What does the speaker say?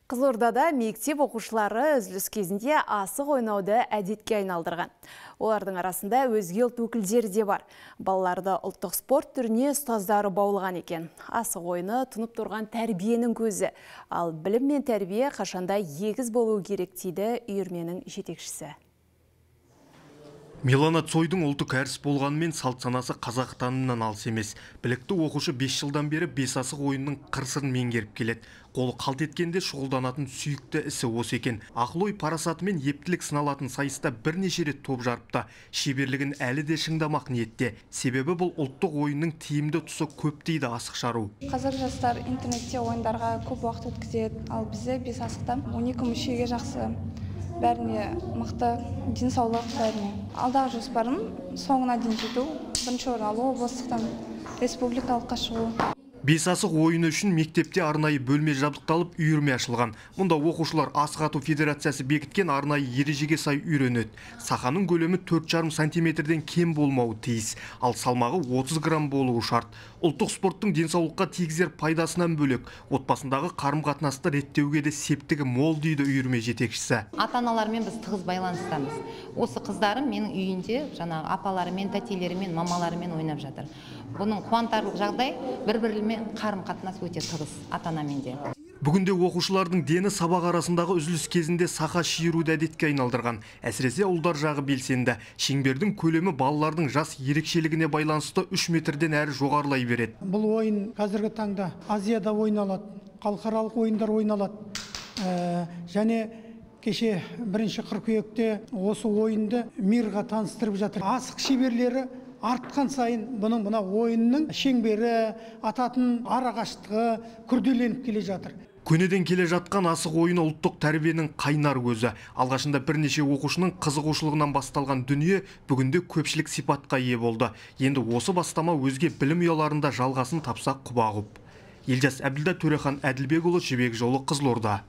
Қызылордада мектеп оқушылары үзіліс кезінде асық ойнауды әдетке айналдырған. Олардың арасында өзге ұлт өкілдері де бар. Балаларды ұлттық спорт түріне ұстаздары баулыған екен. Асық ойыны тұнып тұрған тәрбиенің көзі. Ал білім мен тәрбие қашанда егіз болуы керек дейді үйірменің жетекшісі. Милана Цойдың ұлты кәріс болғанымен салт санасы қазақ танымынан алыс емес. Білікті оқушы 5 жылдан бері бес асық ойынның қыр-сырын меңгеріп келеді. Қолы қалт еткенде шұғылданатын сүйікті ісі осы екен. Ақыл-ой парасаты мен ептілік сыналатын сайыста бірнеше рет топ жарыпты. Шеберлігін әлі де шыңдамақ ниетте. Себебі бұл ұлттық ойынның тиімді тұсы көп дейді асық шару. Қазір жастар интернетте ойындарға көп уақыт өткізеді, ал бізде бес асықтан 12 мүшеге жақсы. Бәріне мықты денсаулық бәріне. Алдағы жоспарым соңына дейін жету, бірінші орын алу, облыстықтан республикалыққа шығу. Бес асық ойыны үшін мектепте арнайы бөлме жабдықталып үйірме ашылған. Мұнда оқушылар асық ату федерациясы бекіткен арнайы ережеге сай үйренеді. Сақаның көлемі 4,5 сантиметрден кем болмауы тиіс, ал салмағы 30 грамм болуы шарт. Ұлттық спорттың денсаулыққа тигізер пайдасынан бөлек, отбасындағы қарым-қатынасты реттеуге де септігі мол дейді үйірме жетекшісі. Ата-аналармен біз тығыз байланыстамыз. Осы қыздарым менің үйінде жаңағы апаларымен, тәтелерімен, мамаларымен ойнап жатыр. Бұның қуантарлық жағдай бір-бірімен қарым-қатынас өте тығыз ата-анамен де. Бүгінде оқушылардың дені сабақ арасындағы үзіліс кезінде сақа шиыруды әдетке айналдырған. Әсіресе ұлдар жағы белсенді. Шеңбердің көлемі балалардың жас ерекшелігіне байланысты 3 метрден әрі жоғарылай береді. Бұл ойын қазіргі таңда Азияда ойналады, халықаралық ойындар ойналады. Және кеше 1 қыркүйекте осы ойынды мирға таныстырып жатыр. Асық шеберлері артқан сайын бұның мына ойынның шеңбері, ататын арақашықтығы күрделеніп келе жатыр. Көнеден келе жатқан асық ойыны ұлттық тәрбиенің қайнар көзі. Алғашында бірнеше оқушының қызығушылығынан басталған дүние бүгінде көпшілік сипатқа ие болды. Енді осы бастама өзге білім ұяларында жалғасын тапса құба құп. Елжас Әбділда, Төрехан Әділбекұлы, Жібек жолы, Қызылорда.